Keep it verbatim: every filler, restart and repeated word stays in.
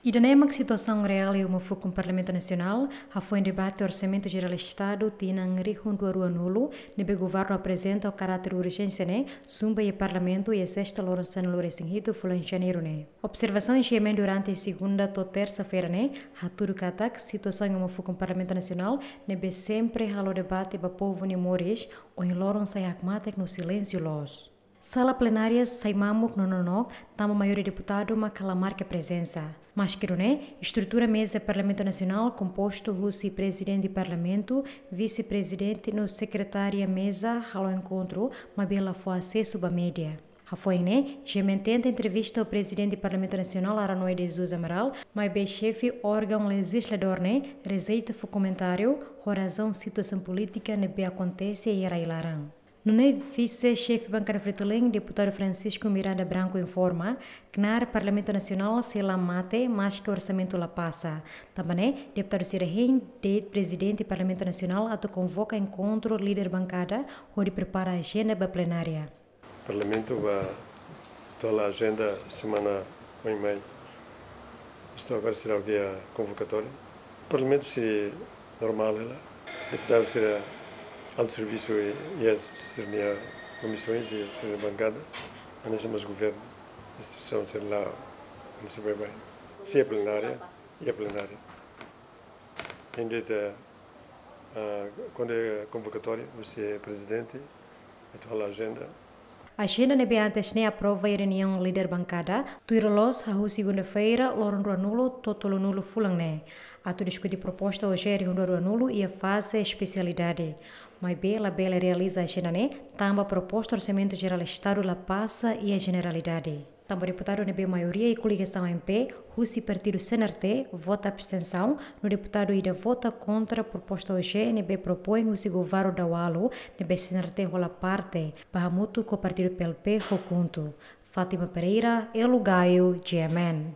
Ida-ne'e mak situasaun reál iha uma fukun Parlamentu Nasionál, hafoin debate Orsamentu Jerál Estadu tinan rihun rua rua nulu, ne'ebé governu aprezenta ho karáter urjénsia ne'e, zumba iha Parlamentu iha sesta loron sanulu resin hitu fulan Janeiru ne'e. Observasaun G M N durante segunda to'o tersa-feira ne'e, hatudu katak situasaun iha uma fukun Parlamentu Nasionál, ne'ebé sempre halo debate ba povu nia moris, ohin loron sai hakmatek no silénsiu loos. Sala plenária sai mamuk no nonook, tanba maioria deputadu mak la marka prezensa. Maske nune'e, estrutura meza Parlamentu Nasionál kompostu husi Prezidente Parlamentu, Vise-Prezidente no Sekretária Meza halo enkontru, maibé la fó asesu ba média. Hafoin ne'e, G M N tenta entrevista ho Prezidente Parlamentu Nasionál Aranoe de Jesus Amaral, maibé xefe órgaun lejizladór ne'e rejeita fó komentáriu, ho razaun situasaun polítika ne'ebé akontese iha rai-laran. Nune'e Vise-Xefe Bankada Fretilin, Deputadu Francisco Miranda Branco informa, knaar Parlamentu Nasionál sei la mate, maske orsamentu la pasa. Tanba ne'e, deputadu sira hein de'it Prezidente Parlamentu Nasionál atu konvoka enkontru líder bankada, hodi prepara ajenda ba plenária. Parlamentu ba atuál ajenda semana oin mai. Estou agora será o dia convocatório. Parlamentu sei normál hela. Deputadu sira halo servisu iha sira-nia komisaun, iha sira-nia bankada. Hanesan mós governu, instituisaun sira la, hanesan baibain. Sei iha plenária, iha plenária. Ainda, ah, kuandu konvokatória, husi Prezidente, atuál ajenda. Ajenda ne'ebé antes ne'e aprova iha reuniaun líder bankada, tuir loloos hahú segunda-feira, loron rua nulu to'o tolu nulu fulan ne'e, atu diskute proposta O J rihun rua rua nulu iha faze espesialidade. Maibé labele realiza ajenda ne'e, tanba proposta Orsamentu Jerál Estadu la pasa iha jeneralidade. Tanba deputadu ne'ebé maioria iha koligasaun M P, husi partidu C N R T, vota abstensaun, no deputadu ida vota kontra proposta O J ne'ebé propoin husi governu daualu, ne'ebé C N R T hola parte, ba hamutuk ho partidu P L P ho KHUNTO. Fátima Pereira, Elo Gaio, G M N.